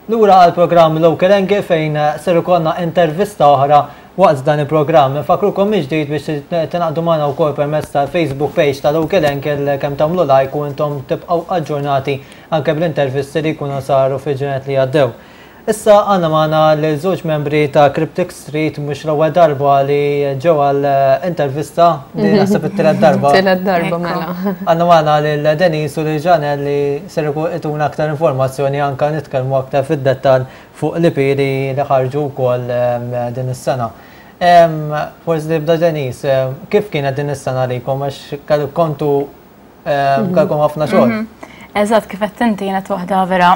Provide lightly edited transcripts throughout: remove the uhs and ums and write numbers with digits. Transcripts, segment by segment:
Lura għall-programm Local Angle fejn ser ikollna intervista oħra waqt dan il-programm. Infakkrukom mill-ġdid biex tingħaqdu magħna wkoll permezz tal-Facebook page ta' Local Angle kemm tagħmlu like u intom tibqgħu aġġornati anke bl-intervisti li jkunu saru fil-ġranet li għaddew. Issa għandna magħna lil żewġ membri ta' Cryptic Street mhux l-ewwel darba li ġew għal intervista, din naħseb it-tielet darba. Tielet darba mela. Għandna magħna lil Denise u lil Janelle li ser ituna aktar informazzjoni anke nitkellmu aktar fid-dettall fuq l-EP li ħarġu wkoll din is-sena. Forsi nibda Denise, kif kienet din is-sena għalikom għax kontu Kellkom ħafna xogħol. Eżatt, kif qed inti kienet waħda vera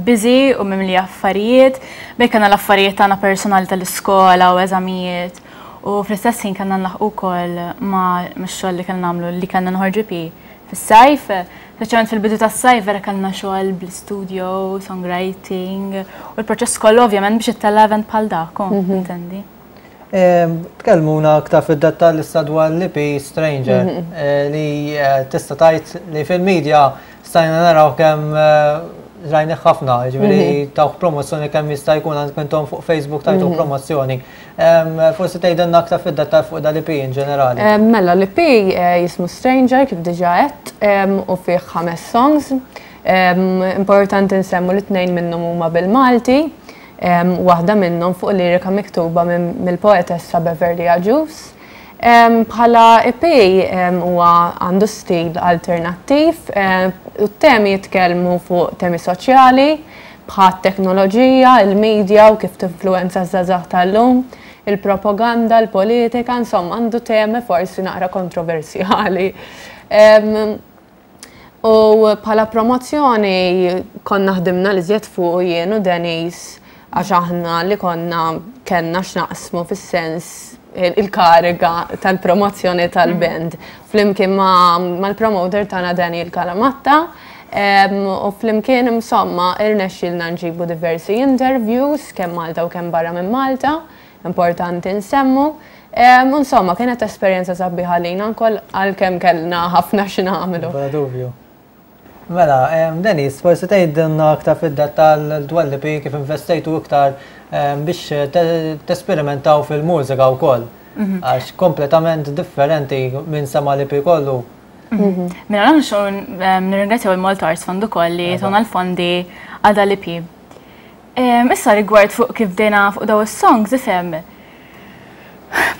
busy u mimlija affarijiet. Bejn kellna l-affarijiet tagħna personali tal-iskola u eżamijiet. U fl-istess ħin kellna nlaħqu wkoll ma' x-xogħol li kellna nagħmlu li kellna noħorġu EP fis-sajf. Speċjalment fil-bidu tas-sajf vera kellna xogħol bl-istudio, songwriting u l-proċess kollu ovvjament biex ittella' event bħal dak, intendi. Tkellmuna aktar fid-dettall issa dwar l-EP Stranger li tista' tgħid li fil-media stajna naraw kemm rajnih ħafna, jiġifieri tawh promozzjoni kemm jista' jkun għandkom intom fuq Facebook tajtu promozzjoni. Forsi tgħidilna aktar fid-dettall fuq dal-EP in ġenerali. Mela l-EP jismu Stranger kif diġà għedt u fih ħames songs. Importanti nsemmu li tnejn minnhom huma bil-Malti. Waħda minnhom fuq lirika miktuba mill-poetessa Beverly Agius. Bħala EP huwa għandu stil alternattiv u t-temi jitkellmu fuq temi soċjali bħat-teknoloġija, il-media u kif tinfluwenza ż-żgħażagħ tal-lum, il-propaganda, il-politika, insomma għandu temi forsi naqra kontroversjali. U bħala promozzjoni konna ħdimna l-iżjed fuqu jien u Denise għax aħna li konna kellna x'naqsmu fis-sens il-kariga tal-promozzjoni tal-band. Flimkien mal-promoter tagħna Daniel Calamatta u flimkien insomma irnexxielna nġibu diversi interviews kemm Malta u kemm barra minn Malta. Importanti nsemmu. U insomma, kienet esperjenza sabiħa għalina wkoll għalkemm kellna ħafna xi nagħmlu. Bla dubju. Mela, Denise, forsi tgħidilna aktar fid-dettall dwar l-EP kif investejtu iktar biex tesperimentaw fil-mużika wkoll. Għax kompletament differenti minn sema' l-EP kollu. Mela, nirringrazzjaw il-Malta Arts Fund ukoll li tawna l-fondi għal dal-EP. Issa rigward fuq kif bdejna fuq daw is-songs, ifhem.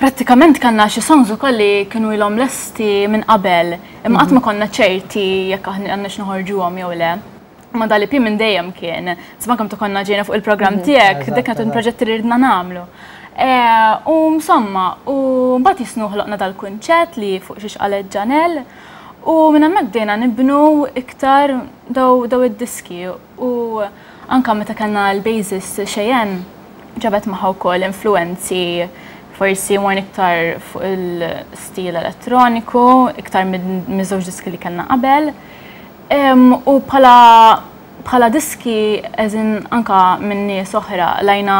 Prattikament kellna xi songs ukoll li kienu ilhom lesti minn qabel, imma qatt ma konna ċerti jekk aħna għandniex noħorġuhom jew le. Ma dal-EP minn dejjem kien, insomma kemm konna ġejna fuq il-programm tiegħek, dik kienet proġetti li ridna nagħmlu. U insomma, u mbagħad jisnu ħloqna dal-kunċett li fuq xiex qalet Janelle, u minn hemmhekk bdejna nibnu iktar daw id-diski u Anke meta kellna l-bassist Cheyenne ġabet magħha wkoll influwenzi forsi morna iktar fuq il-stil elettroniku, iktar miż-żewġ diski li kellna qabel. U bħala bħala diski as in anka minn nies oħra lajna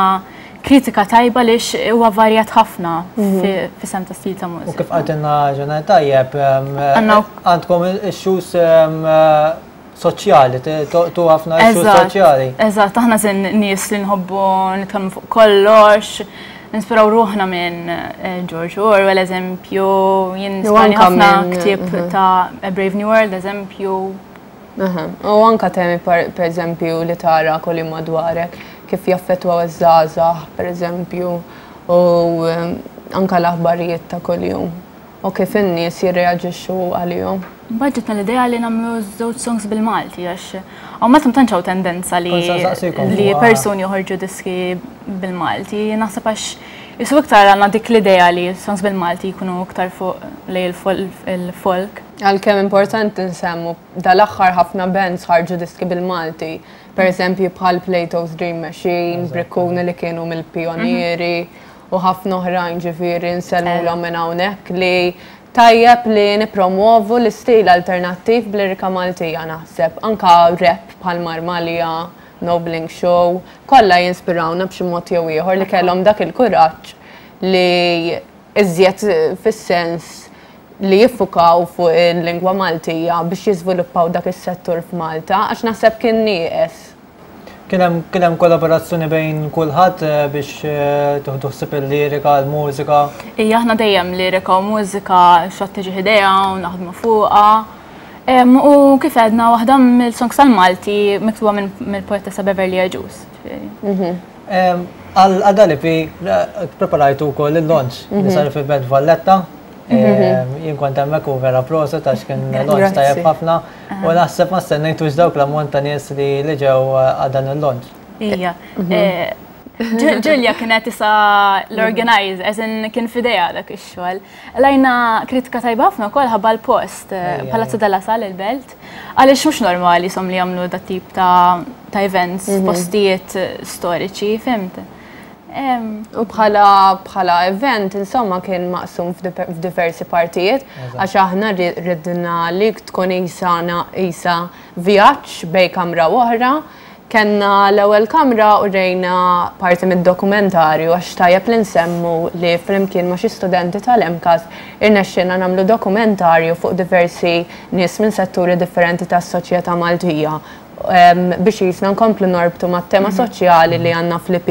kritika tajba lix huwa varjat ħafna fis-sem ta' stil ta' mużika. U kif qaltilna Ġener tajjeb, għandkom issues soċjali, tu ħafna issues soċjali. Eżatt, aħna sin nies li nħobbu nitkellmu fuq kollox, nispiraw ruħna minn eh, George Orwell, eżempju, jien nispirani ħafna ktieb mhm. ta' A Brave New World, eżempju. U anka temi per eżempju li tara kolli madwarek, kif jaffettwaw iż-żgħażagħ, per eżempju, u eh, anka l-aħbarijiet ta' kuljum. U kif in-nies jirreaġixxu għalihom. Mbagħad ġietna l-idea li nagħmlu żewġ songs bil-Malti għax hawn Malta ma tantx hawn tendenza li li persuni joħorġu diski bil-Malti. Naħseb għax jisu iktar għandna dik l-idea li songs bil-Malti jkunu iktar fuq lej il-folk. Għalkemm importanti nsemmu dal-aħħar ħafna bands ħarġu diski bil-Malti. Per eżempju bħal Plato's Dream Machine, Brikkuni li kienu mill-pionieri. u ħafna oħrajn ġifieri nsellmulhom minn hawnhekk li tajjeb li nippromwovu l-istil alternattiv b'lirika Maltija naħseb. Anka rap bħal Marmalja, No Bling Show, kollha jinspirawna b'xi mod jew ieħor li kellhom dak il-kuraġġ li iżjed fis-sens li jiffukaw fuq il-lingwa Maltija biex jiżviluppaw dak is-settur f'Malta għax naħseb kien nieqes. Kien hemm kien hemm kollaborazzjoni bejn kulħadd biex tieħdu ħsieb il-lirika, l-mużika? Ija, aħna dejjem lirika u mużika xi tiġi idea u naħdmu fuqha. U kif għedna waħda mill-songs tal-Malti miktuba mill-poetessa Beverly Agius. Għal dal-EP preparajtu wkoll il-launch li sar fil-Belt Valletta. Jien kont hemmhekk u vera proset għax kien launch tajjeb ħafna u naħseb ma stennejtux dawk l-ammont ta' nies li ġew għal dan il-launch. Ija. Ġulja kienet isa l-organizer, as in kien f'idejha dak ix-xogħol. Lajna kritika tajba ħafna wkoll ħabba l-post, Palazzo della Sala il-Belt, għaliex mhux normali som li jagħmlu dat tip ta' events, postijiet storiċi, fhimt? U bħala bħala event, insomma, kien maqsum f'diversi partijiet, għax aħna ridna li tkun isa isa vjaġġ bejn kamra u oħra. Kenna l-ewwel kamra u rejna parti mid-dokumentarju, għax tajjeb li nsemmu li flimkien ma' xi studenti tal-MCAST irnexxielna nagħmlu dokumentarju fuq diversi nies minn setturi differenti tas-soċjetà Maltija biex jisna nkomplu norbtu mat-tema soċjali li għandna fl-EP.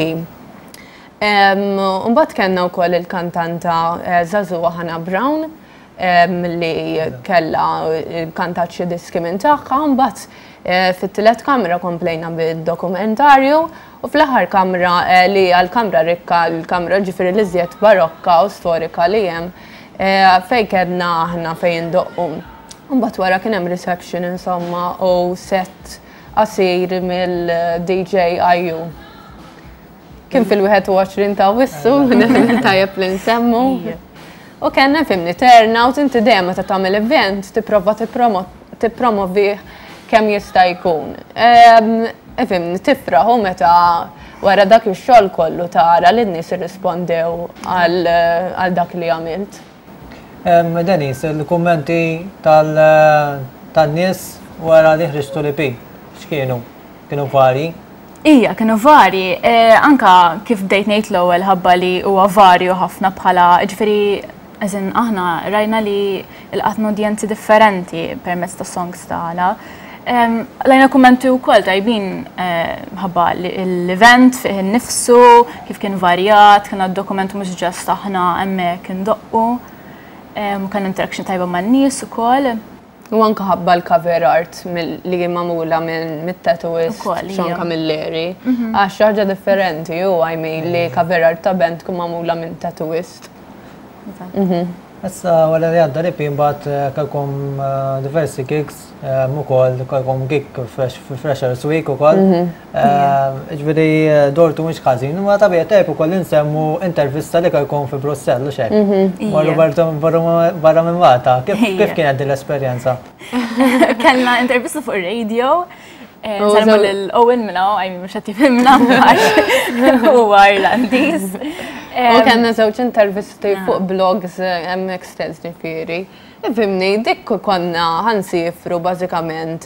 Mbagħad kellna wkoll il-kantanta żagħżugħa Hannah Brown li kella kantat xi diski minn tagħha, mbagħad fit-tielet kamra komplejna bid-dokumentarju u fl-aħħar kamra li hija l-kamra rikka, l-kamra ġifieri l-iżjed barokka u storika li hemm fejn kellna aħna fejn indoqqu. Mbagħad wara kien hemm reception insomma u set qasir mill-DJ IU. Kien fil-21 ta' Awwissu, tajjeb li nsemmu. U kellna fimni turnout, inti dejjem meta tagħmel event tipprova tippromovi kemm jista' jkun. Fimni tifraħ u meta wara dak ix-xogħol kollu tara li n-nies irrispondew għal dak li għamilt. Denise, il-kummenti tan-nies wara li ħriġtu l-EP, x'kienu? Kienu varji? Ija, kienu varji. Anka kif bdejt ngħid l-ewwel ħabba li huwa varju ħafna bħala, ġifieri, as in aħna rajna li lqatna udjenzi differenti permezz ta' songs tagħna. Lajna kummenti wkoll tajbin ħabba l-event fih innifsu, kif kien varjat, kien dokument mhux just aħna hemmhekk indoqqu. Kien interaction tajba man-nies ukoll. U anka ħabba l-cover art li magħmula minn mit-tattooist Sean Camilleri. Għax ħaġa differenti u I mean li cover art ta' band tkun magħmula minn tattooist. Issa wara li għadda l-EP mbagħad kellkom diversi gigs ukoll kellkom gig Freshers Week ukoll. Ġifieri dortu mhux ħażin, ma tabiegħi tajjeb ukoll insemmu intervista li kellkom fi Brussell u xek. Marru barra minn Malta. Kif kienet din l-esperjenza? Kellna intervista fuq ir-radio. Sellmu lil Owen minna, I mean, mhux qed jifhimna huwa Irlandiż. U kellna żewġ intervisti fuq blogs hemmhekk stess ġifieri. Ifhimni, dik konna ħa nsifru bażikament.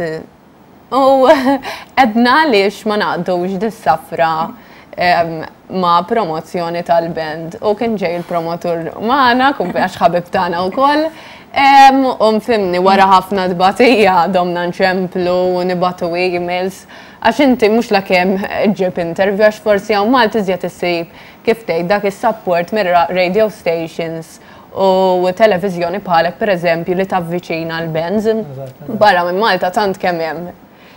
U għedna għaliex ma naqdux dis-safra ma' promozzjoni tal-band. U kien ġej il-promotur magħna, għax ħabib tagħna wkoll. U nfimni wara ħafna tbatija domna nċemplu u nibagħtu emails. Għax inti mhux la kemm ġib interview, għax forsi hawn Malta iżjed issib kif tgħid dak is-support mir-radio stations u televiżjoni bħalek pereżempju li tavviċina l-bands. Barra minn Malta tant kemm hemm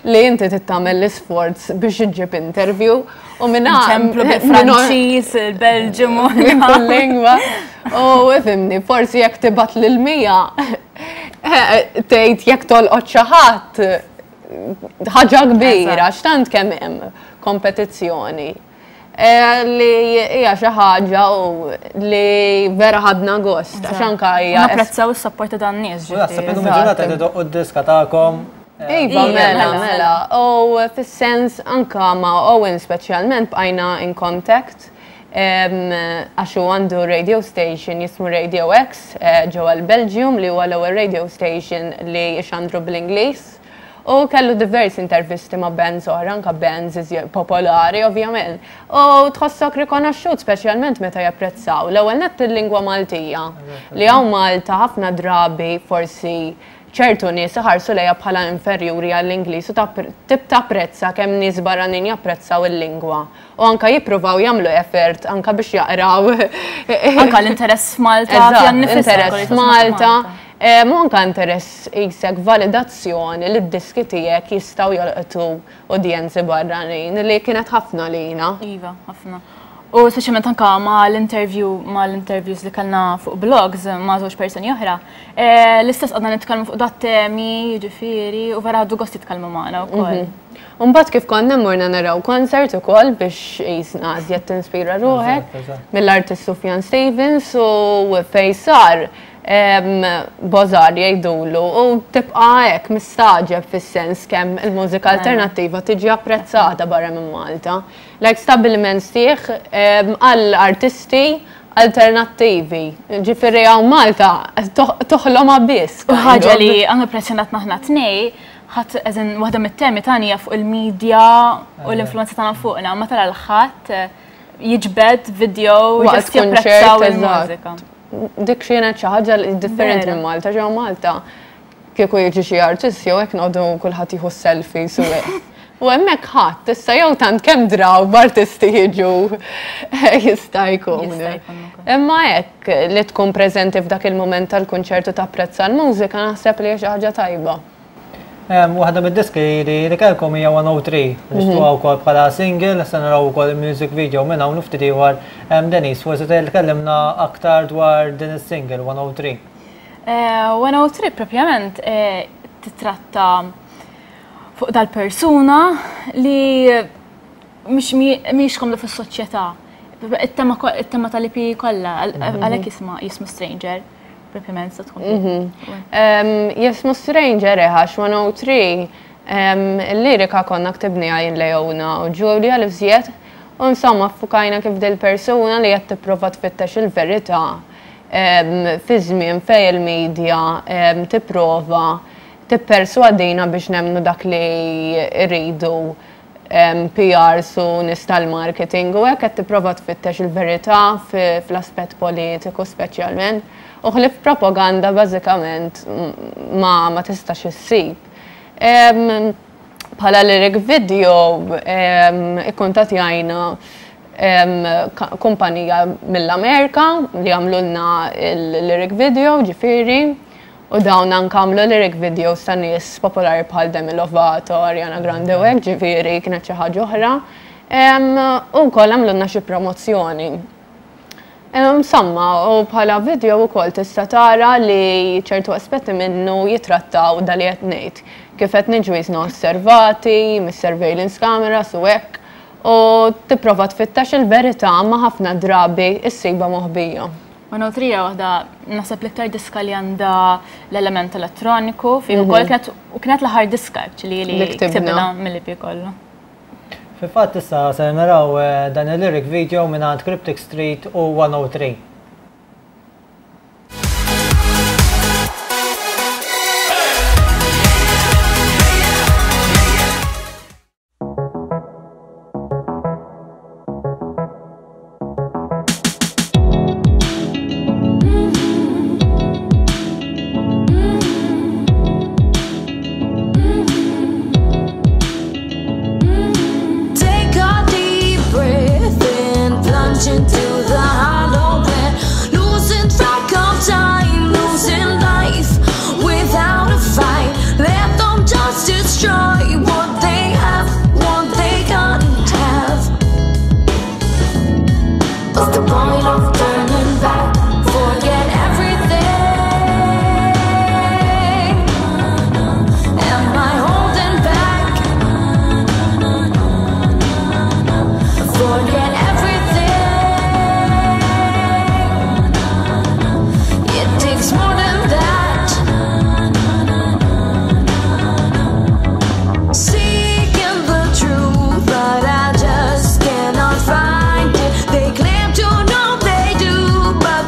li inti tittamel l-isforz biex iġġib interview u minna. Ċemplu bil-Franċiż, il-Belġium. Minn kull lingwa. U ifhimni, forsi jekk tibgħat lil 100 tgħid jekk tolqot xi ħadd ħaġa kbira, x'tant kemm hemm kompetizzjoni. Li hija xi ħaġa u li vera ħadna gost, għax anka hija. Napprezzaw is-support ta' dan nies. U naħseb illum il-ġurnata qed idoqqu d-diska tagħkom. Iva, mela, mela. U fis-sens anka ma' Owen speċjalment bqajna in contact għax hu għandu radio station jismu Radio X ġewwa l-Belgium li huwa l-ewwel radio station li jxandru bl-Ingliż. U kellu diversi intervisti ma' bands oħra, anka bands popolari ovvjament. U tħossok rikonoxxut speċjalment meta japprezzaw l-ewwel nett il-lingwa Maltija. Li hawn Malta ħafna drabi forsi ċertu nies iħarsu lejha bħala inferjuri għall-Ingliż u tapprezza kemm nies barranin japprezzaw il-lingwa u anka jippruvaw jagħmlu effort anka biex jaqraw. Anka l-interess f'Malta. Interess f'Malta. U anka interess qisek validazzjoni li d-diski tiegħek jistgħu jolqtu udjenzi barranin li kienet ħafna lina. Iva, ħafna. U speċjalment anka ma l-interview ma l-interviews li kellna fuq blogs ma' żewġ persuni oħra, eh, l-istess għadna nitkellmu fuq dat temi, jiġifieri, u vera ħadu gost jitkellmu magħna wkoll. Umbagħad kif konna morna naraw concert ukoll biex jisna iżjed tinspira ruħek mill-artist Sufjan Stevens u fej sar bożar jgħidulu u tibqa' hekk mistagħġeb fis-sens kemm il-mużika alternattiva tiġi apprezzata barra minn Malta. Like stabbiliment sħiħ għal artisti alternattivi. Ġifieri hawn Malta toħlomha biss. U ħaġa li anke impressjonatna aħna tnej, ħadd eżin waħda mit-temi tagħna hija fuq il-medja u l-influenza tagħna fuqna, ma tara l-ħadd jiġbed video waqt japprezzaw il-mużika. Dik xienet xi ħaġa differenti minn Malta, ġew Malta kieku jiġi xi artist jew hekk noqogħdu kulħadd jieħu selfies u hekk. U hemmhekk ħadd issa jew tant kemm draw b'artisti jiġu jista' jkun. Imma hekk li tkun preżenti f'dak il-mument tal-kunċertu tapprezza l-mużika naħseb li hija xi ħaġa tajba. Waħda mid-diski li kellkom hija 103, li xtuha wkoll bħala single, se naraw ukoll il-music video minn hawn u ftit ieħor. Denise, forsi tkellimna aktar dwar din is-single 103. 103 propjament titratta fuq dal-persuna li mhix komda fis-soċjetà. It-tema tal-EP kollha għalhekk jisma' jismu Stranger, propjament se tkun. Jismu Stranger għax 103 il-lirika konna ktibniha jien Leona u Julia li fżiet u insomma ffukajna kif dil-persuna li qed tipprova tfittex il-verità fi żmien fejn il-media tipprova tipperswadina biex nemmnu dak li rridu PRs u nies tal-marketing u hekk qed tipprova tfittex il-verità fl-aspett politiku speċjalment u ħlief propaganda bażikament ma ma tistax issib. Bħala lyric video ikkuntattjajna kumpanija mill-Amerika li għamlulna il-lyric video ġifieri u dawn anke għamlu lyric videos ta' nies popolari bħal Demi Lovato, Ariana Grande u hekk, ġifieri kienet xi ħaġa oħra. U wkoll għamlulna xi promozzjoni. Insomma, u bħala video wkoll tista' tara li ċertu aspetti minnu jitrattaw da li qed ngħid. Kif qed niġu jisna osservati, mis-surveillance cameras u hekk, u tipprova tfittex il-verità ma ħafna drabi issibha moħbija. 103 hija waħda naħseb l-iktar diska li għandha l-element elettroniku fih ukoll kienet u kienet l-aħħar diska actually li ktibna mill-EP kollu. Fil-fatt issa se naraw dan il-lyric video mingħand Cryptic Street u 103. Take a deep breath and plunge into the hollow air. Losing track of time, losing life without a fight. Let them just destroy what they have, what they can't have. What's the point of turning back? Forget everything. Am I holding back? Forget everything. It takes more than that. Seeking the truth, but I just cannot find it. They claim to know they do, but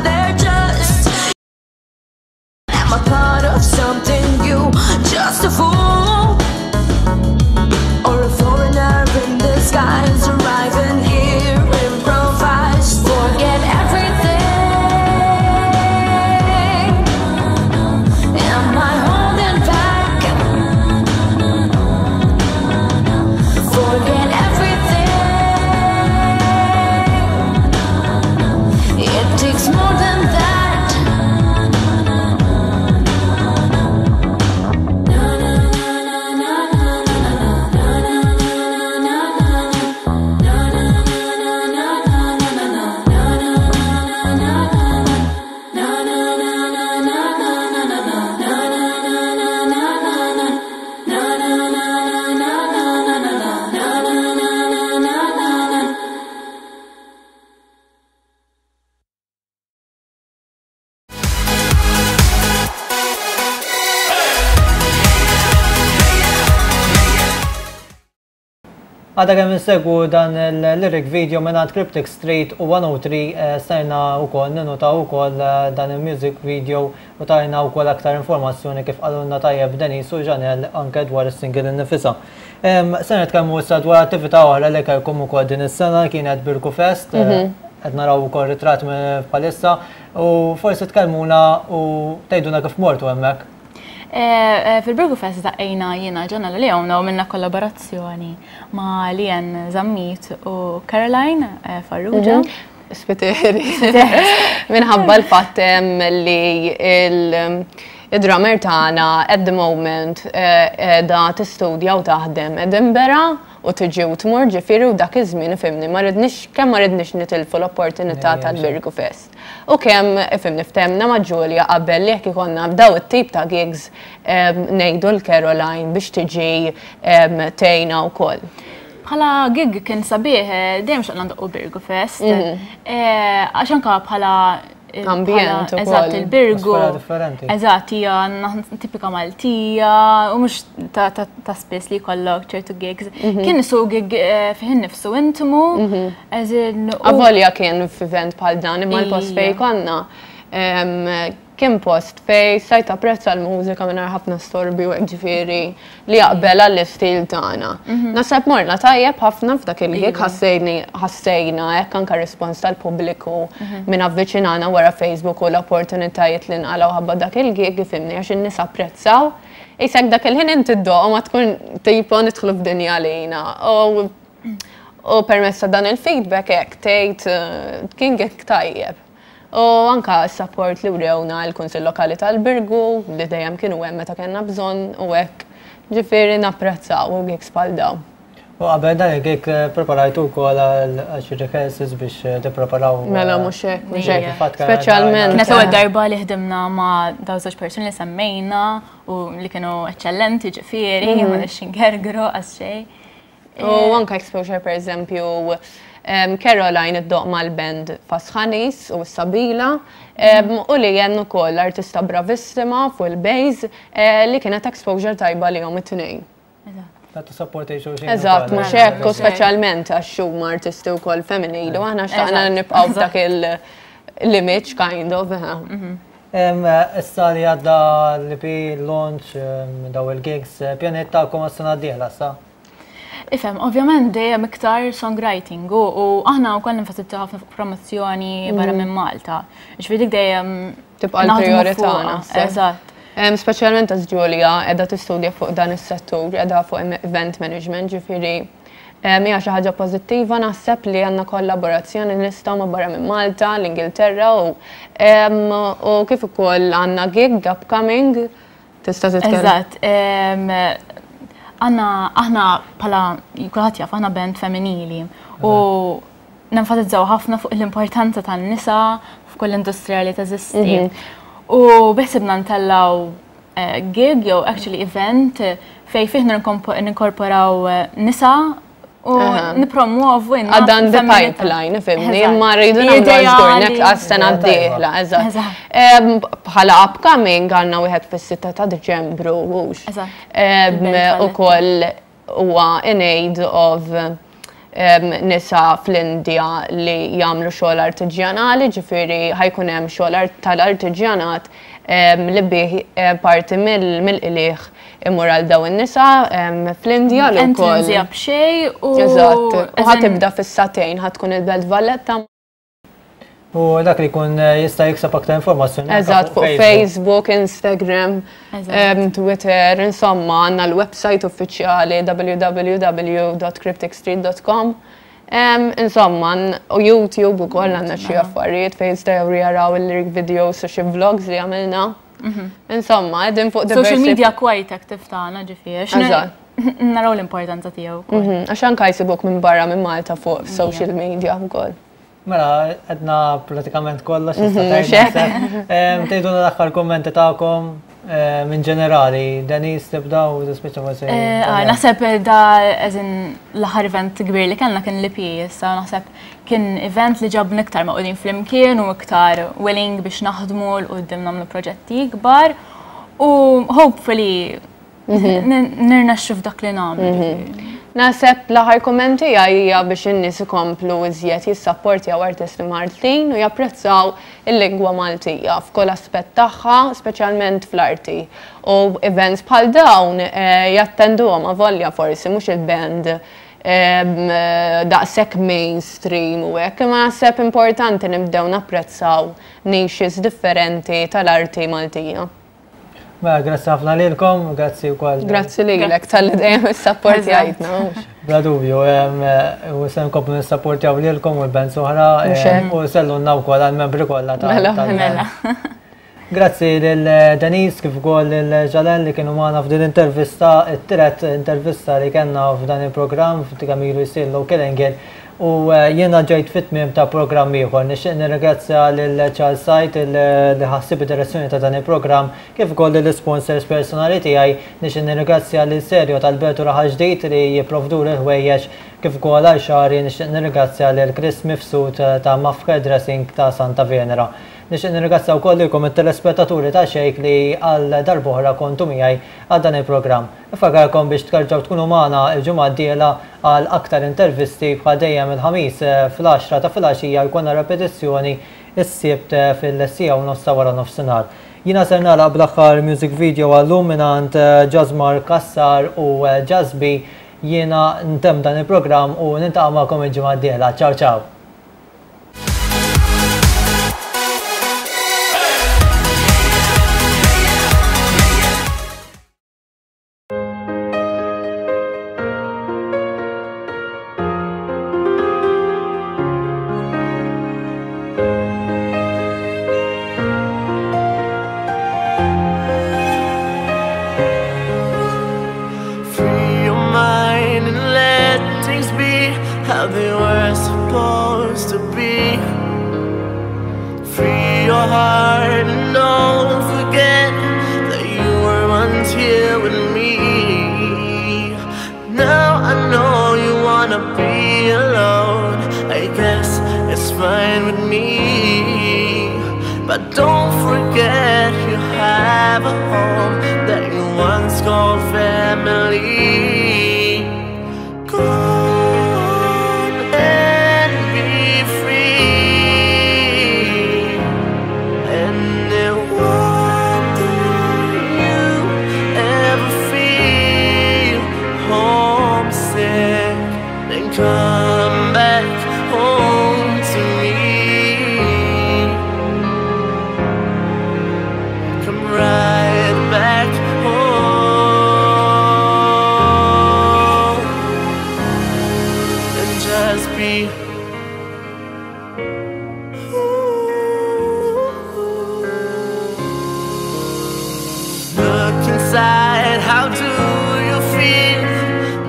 Għadha kemm insegwu dan il-lyric video mingħand Cryptic Street u 103 stajna wkoll ninutaw ukoll dan il-music video u tajna wkoll aktar informazzjoni kif qalulna tajjeb Denise u Janelle anke dwar is-single innifisha. Se nitkellmu issa dwar attività oħra li kellkom ukoll din is-sena kienet Birgu Fest. Qed naraw ukoll ritratt bħalissa u forsi tkellmuna u tgħidulna kif mortu hemmhekk. Fil-Birgu Fest daqqejna jiena Ġanna Leona u minna kollaborazzjoni ma' Lien Zammit u Caroline Farrugia. Spiteri. Minħabba l-fatt li il-drummer tagħna at the moment da tistudja u taħdem Edinburgh u tiġi u tmur ġifieri u dak iż-żmien ifhimni ma ridniex kemm ma ridniex nitilfu l-opportunità tal-Birgu Fest. U kemm ifhimni ftehemna ma' Julia qabel li jekk ikollna daw it-tip ta' gigs ngħidu l Caroline biex tiġi tgħinna wkoll. Bħala gig kien sabiħ, dejjem xtaqna ndoqqu Birgu Fest. Għax anka bħala ambjent ukoll. Eżatt, il-Birgu. Differenti. Eżatt, hija tipika Maltija u mhux ta' spiss li jkollok ċertu gigs. Kien isu gig fih innifsu intimu. Avolja kien f'event bħal dan imma l-post fejn konna kien post fej stajt tapprezza l-mużika mingħajr ħafna storbi u hekk ġifieri li jaqbel għall-istil tagħna. Naħseb morna tajjeb ħafna f'dak il-gig ħassejna hekk anke rispons tal-pubbliku minn avviċinana wara Facebook u l-opportunitajiet li nqalgħu ħabba dak il-gig ifhimni għax in-nies apprezzaw. Isek dak il-ħin inti ddoq u ma tkun tipo nidħlu f'dinja għalina. U permezz ta' dan il-feedback hekk tgħid kien gig tajjeb. U anka s-support li wrewna l-Kunsill Lokali tal-Birgu li dejjem kienu hemm meta kellna bżonn u hekk. Ġifieri napprezzaw u gigs bħal dawn. U qabel dan il-gig preparajtu wkoll għal xi rehearsals biex tippreparaw. Mela mhux hekk, mhux hekk. Speċjalment. Kienet l-ewwel darba li ħdimna ma' dawn żewġ persuni li semmejna u li kienu eċċellenti ġifieri, ma nix ingergru għas xejn. U anka exposure per eżempju Caroline iddoqq mal-band Fasħanis u Sabila u li jen ukoll artista bravissima fuq il-bass li kienet exposure tajba li jom it-tnejn. Tagħtu support xulxin. Eżatt, mhux hekk, u speċjalment għax huma artisti wkoll femminili u aħna xtaqna nibqgħu f'dak il-image kind of. Issa li għadda l-EP launch daw il-gigs, pjaniet tagħkom għas-sena d-dieħla sa? Ifhem, ovvjament dejjem iktar songwriting u aħna wkoll nenfasizzaw ħafna fuq promozzjoni barra minn Malta. Ġifieri dik dejjem tibqa' l-prijorità naħseb. Eżatt. Speċjalment għax Julia qiegħda tistudja fuq dan is-settur, qiegħda fuq event management, ġifieri hija xi ħaġa pożittiva naħseb li għandna kollaborazzjoni nistgħu ma' barra minn Malta, l-Ingilterra u kif ukoll għandna gig upcoming tista' titkellem. Eżatt. Għandna aħna bħala kulħadd jaf aħna band femminili u nenfasizzaw ħafna fuq l-importanza tan-nisa f'kull industrija li teżisti. U beħsibna ntellgħu gig jew actually event fej fih ninkorporaw nisa u nipromuovu Għadha in the pipeline, fhimni, imma rridu nagħmlu żgur għas-sena d-dieħla, eżatt. Bħala upcoming għandna wieħed fis-6 ta' Diċembru, hux. Ukoll huwa in aid of nisa fl-Indja li jagħmlu xogħol artiġjanali, ġifieri ħa jkun hemm xogħol tal-artiġjanat li bih parti mill-qligħ imur għal daw in-nisa fl-Indja li wkoll. Entrance b'xejn u. Eżatt, u ħa tibda fis-sagħtejn ħa tkun il-Belt Valletta. U dak li jkun jista' jikseb aktar informazzjoni. Eżatt, fuq Facebook, Instagram, Twitter, insomma, għandna l-website uffiċjali www.crypticstreet.com. Insomma, u YouTube ukoll għandna xi affarijiet fejn jistgħu jaraw il-lyric videos u xi vlogs li għamilna. Insomma, qegħdin fuq Social media quite active tagħna ġifieri. Naraw l-importanza tiegħu. Għax anka jsibuk minn barra minn Malta fuq social media wkoll. Mela, għedna pratikament kollox. Tgħidulna l-aħħar kommenti tagħkom minn ġenerali. Denise tibda u tispiċċa forsi. Naħseb da eżin l-aħħar event kbir li kellna kien l-EP, issa naħseb kien event li ġabna iktar magħqudin flimkien u iktar willing biex naħdmu 'l quddiem nagħmlu proġetti ikbar u hopefully nirnexxu f'dak li nagħmlu. Naħseb l-aħħar kumment tiegħi hija biex in-nies ikomplu iżjed jissapportjaw artisti Maltin u japprezzaw il-lingwa Maltija f'kull aspett tagħha, speċjalment fl-arti. U events bħal dawn jattenduhom avolja forsi mhux il-band daqshekk mainstream u hekk, imma naħseb importanti nibdew napprezzaw niches differenti tal-arti Maltija. Mela, grazzi ħafna lilkom, grazzi wkoll. Grazzi lilek talli dejjem issapportjajtna. Bla dubju, u se nkomplu nissapportjaw lilkom u l-bands oħra u sellunna wkoll għall-membri kollha ta' Mela, mela. Grazzi lil Denise kif ukoll lil Ġalen li kienu magħna f'din intervista, it-tielet intervista li kellna f'dan il-programm kemm ilu jsir Local Angle u jiena ġejt fit-tmiem ta' programm ieħor. Nixtieq nirringrazzja lil Charles Said li ħa ħsieb id-direzzjoni ta' dan il-programm kif ukoll lill-isponsors personali tiegħi. Nixtieq nirringrazzja lil Serjo tal-Belt u Raħal Ġdid li jipprovduli l-ħwejjeġ kif ukoll għal xagħri nixtieq nirringrazzja lil Chris Mifsud ta' Maf Hairdressing ta' Santa Venera. Nixtieq nirringrazzja wkoll lilkom it-telespettaturi ta' Xejk li għal darb'oħra kontu miegħi għal dan il-programm. Infakkarkom biex terġgħu tkunu magħna l-ġimgħa d-dieħla għal aktar intervisti bħal dejjem il-Ħamis fl-għaxra ta' filgħaxija jkollna repetizzjoni s-Sibt fil-siegħa u nofs ta' wara nofsinhar. Jiena ser nagħlaq bl-aħħar music video għal-lum mingħand Jasmar Cassar u Jazz B. Jiena ntemm dan il-programm u niltaqa' magħkom il-ġimgħa d-dieħla. Ciao ciao! Free your mind and let things be how they were supposed to be. Free your heart and don't forget that you were once here with me. Now I know you wanna be alone. I guess it's fine with me. But don't forget you have a home that you once called family. Go on and be free. And if one day you ever feel homesick, then come back home to me. Come right back home and just be. Look inside, how do you feel?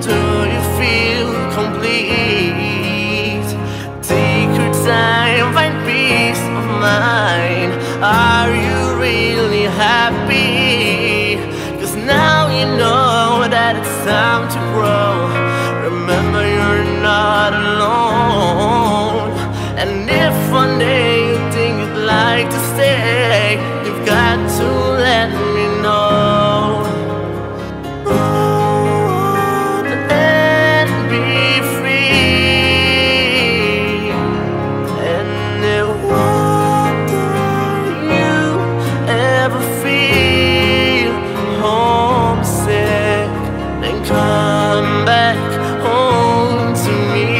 Do you feel complete? Take your time, find peace of mind. Are you really happy? 'Cause now you know that it's time to grow. Remember you're not alone. And if one day you think you'd like to stay, you've got to let me know. Go on and be free. And if one day you ever feel homesick, then come back home to me.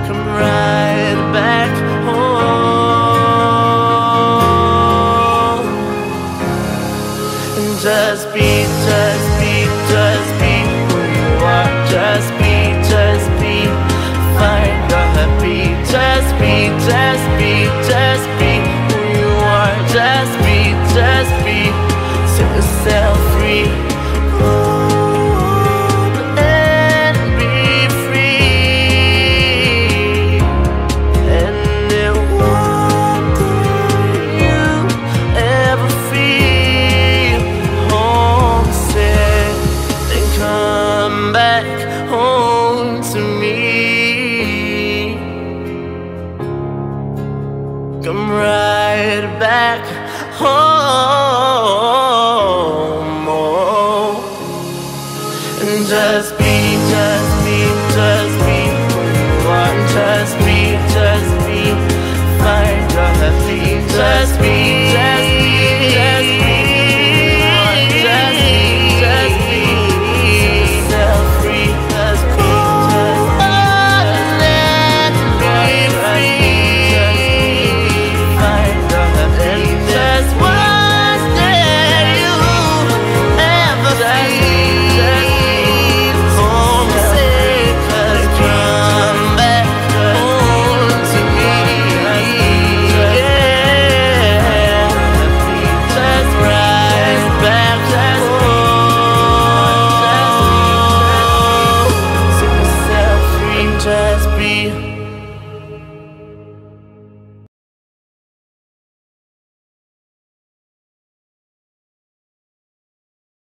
Come right back home. And just be, just be, just be who you are. Just be, just be, find your happy. Just be, just be, just be who you are. Just be, just be, set yourself free. Go on and be free. And if one day you ever feel homesick, then come back home to me. Come right back home.